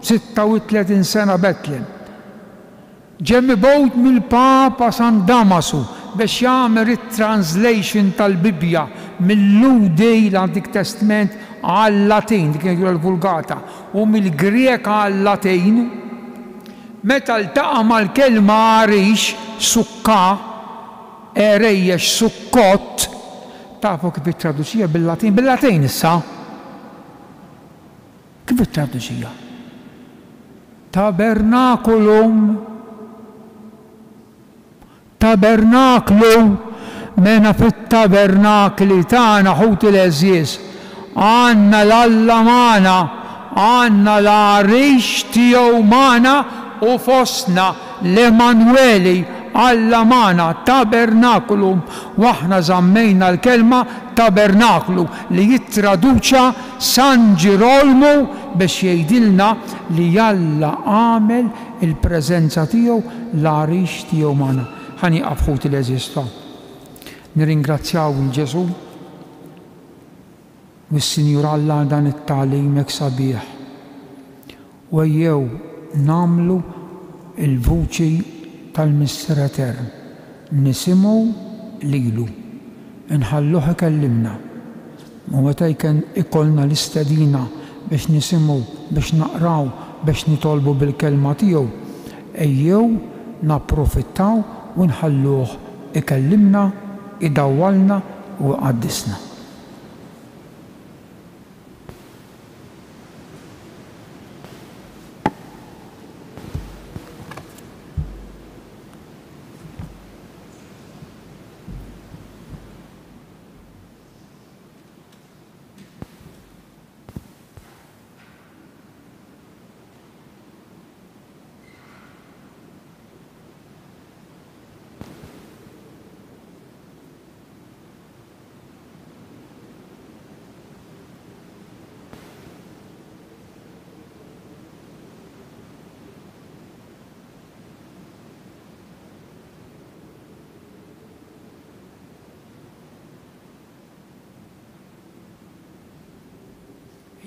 36 sena Betlem, ġie mibgħut mill-Papa San Damasu biex jagħmel it-translation tal-Bibbja mil-Lhudi, l-Antik Testment, għal-Latin, dik ngħidulha l-Vulgata, u mill-Grieg għal-Latin, Meta ltaqa' mal-kelma għarix, sukkà, għerejjex, sukkot, tafu kif ittraduċiha bil-Latin? Bil-Latin issa! Kif ittraduċiha? Tabernaculum. Tabernaklu, mena fit-tabernakli tagħna, ħuti l-għeżież, għandna 'l Alla magħna, għandna l-għarix tiegħu magħna u fostna, l-Emmanweli, Alla magħna, tabernaculum, u aħna żammejna l-kelma tabernaklu li jittraduċa San Ġirolmu biex jgħidilna li Alla għamel Il-preżenza tiegħu, l-għarix tiegħu magħna. Ħa nieqaf ħuti l-għeżież ta'. Nirringrazzjaw 'il Ġesù u s-Sinjur Alla għal dan it-tagħlim hekk sabiħ. U ejjew nagħmlu l-vuċi tal-Missier Etern. Nisimgħu lilu. Inħalluh ikellimna. U meta jkollna l-istedina biex nisimgħu, biex naqraw, biex nitolbu bil-Kelma tiegħu, ejjew napprofittaw u nħalluh ikellimna, idawwalna u iqaddisna.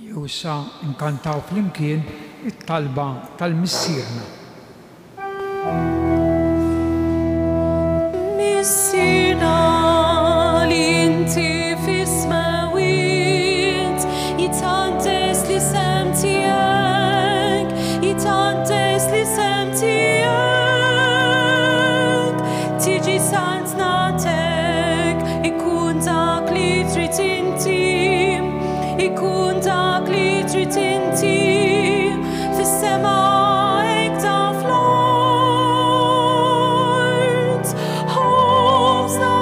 Jew issa nkantaw flimkien it-talba tal-Missierna. Missierna li inti fis-smewwiet, jitqaddes l-isem tiegħek, jitqaddes l-isem tiegħek, tiġi saltnatek, ikun dak li trid inti, ikun dak li trid inti, fis-sema hekk ta' fl-art. Ħobżna,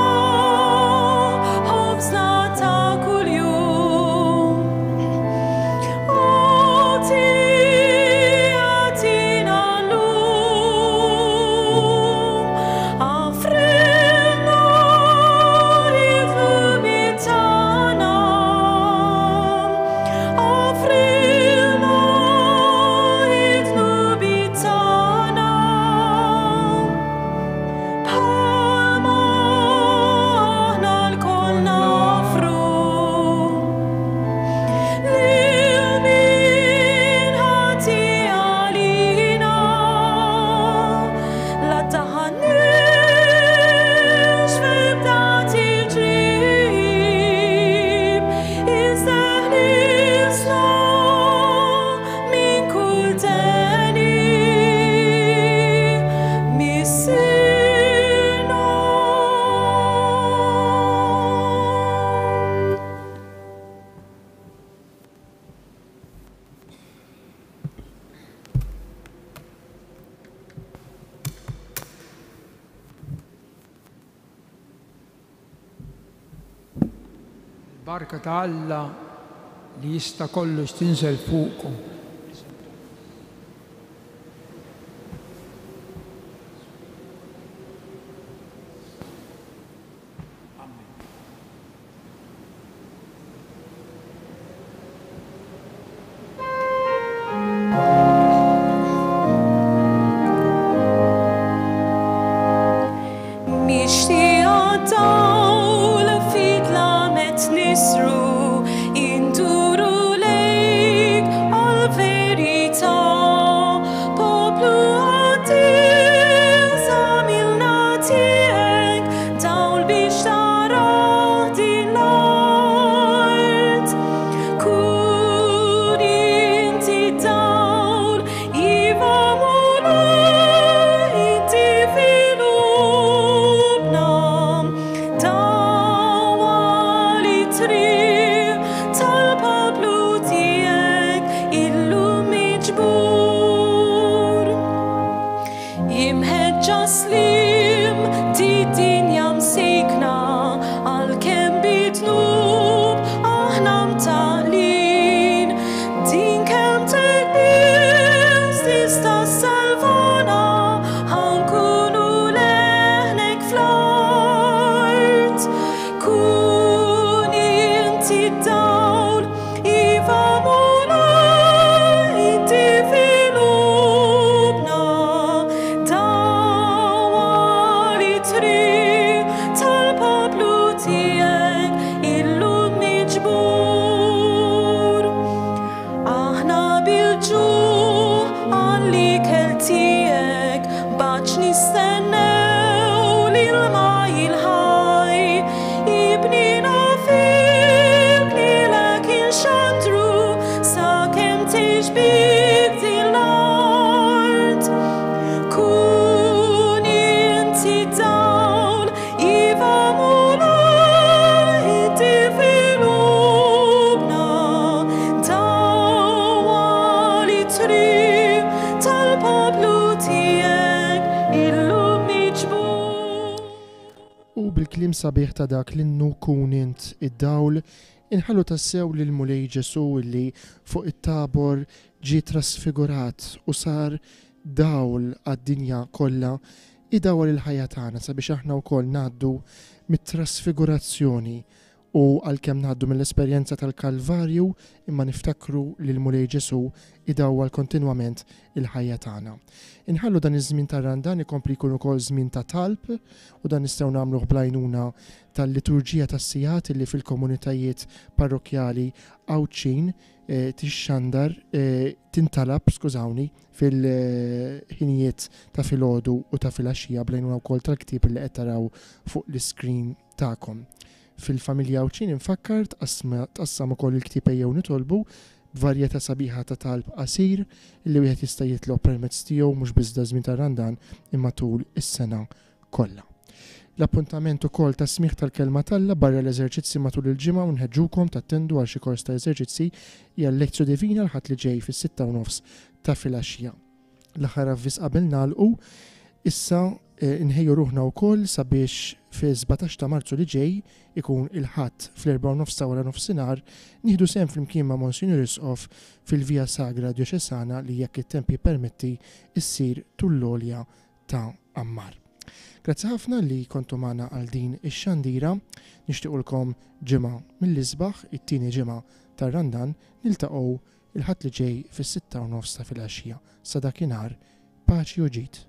ħobżna ta' kuljum. Agħti, agħtina llum. Aghfrilna l-dnubiet tagħna. Aghfrilna l-dnubiet tagħna. Bħalma aħna lkoll naghfru lil min ħati għalina. La ddaħħalniex f'ebda tiġrib, iżda ħlisna minn kull deni. Missierna. Il-barka ta' Alla li jista' kollox tinżel fuqkom. Mixtieqa dawl fi dlamet nisru, induru lejk għall-verità. Poplu qaddis għamilna tiegħek, dawl biex tara din l-art. Kun inti d-dawl, iva Mulej, inti fi qlubna. Dawwal it-triq tal-poplu tiegħek illum miġbur. Imħeġġa slim di dinja msejkna, għalkemm bid-dnub aħna mtaqlin. Din kelmtek biss tista' ssalvana, ħa nkunu leħnek fl-art. Kun inti d-dawl, iva Mulej, inti fi qlubna. Dawwal it-triq tal-poplu tiegħek illum miġbur. Aħna bil-ġuħ għall-ikel tiegħek, baċ nistennew l-ilma il-ħaj. Ibnina fik lilek inxandru sakemm tgħix bik din l-art. Kun inti d-dawl, iva Mulej, inti fi qlubna. Dawwal it-triq tal-poplu tiegħek illum miġbur. U bil-kliem sabiħ ta' dak l-innu Kun int id-dawl, inħallu tassew lil Mulej Ġesu li fuq it-tabor ġie trasfigurat u sar dawl għad-dinja kollha, idawwal il-ħajja tagħna sabiex aħna wkoll ngħaddu mit-trasfigurazzjoni. U għalkemm ngħaddu mill-esperjenza tal-Kalvarju imma niftakru li l-Mulej Ġesù idawwal kontinwament il-ħajja tagħna. Inħallu dan iż-żmien tar-Randan ikompli jkun ukoll żmien ta' talb u dan nistgħu nagħmluh bl-għajnuna tal-liturġija tas-sigħat li fil-komunitajiet parrokkjali Għawdxin tixxandar, tintalab, skużawni, fil-ħinijiet ta' filgħodu u ta' filgħaxija bl-għajnuna wkoll tal-ktieb li qed taraw fuq l-iskrin tagħkom. Fil-familja Għawdxin infakkar tqassam ukoll il-ktieb Ejjew Nitolbu b'varjetà sabiħa ta' talb qasir li wieħed jista' jitlob permezz tiegħu mhux biss daż-żmien tar-Randan imma tul is-sena kollha. L-appuntament ukoll tas-smigħ tal-Kelma t'Alla barra l-eżerċizzi matul il-ġimgħa u nħeġġukom tattendu għal xi kors ta' eżerċizzi hija l-Lectio Divina l-Ħadd li ġej fis-sitta u nofs ta' filgħaxija. L-aħħar avviż qabel nagħlqu, issa nħejju ruħna wkoll sabiex fis-17 ta' Marzu li ġej, ikun il-Ħadd fl-erbgħa u nofs ta' wara nofsinhar, nieħdu sehem flimkien ma' Monsinjur Isqof fil-Via Sagra Djoċesana li jekk it-temp jippermetti ssir tul l-għolja ta' Ammar. Grazzi ħafna li kontu magħna għal din ix-xandira. Nixtiequlkom ġimgħa mill-isbaħ, it-tieni ġimgħa tar-Randan, niltaqgħu il-Ħadd li ġej fis-6:30 ta' filgħaxija. Sa dakinhar, paċi u ġid.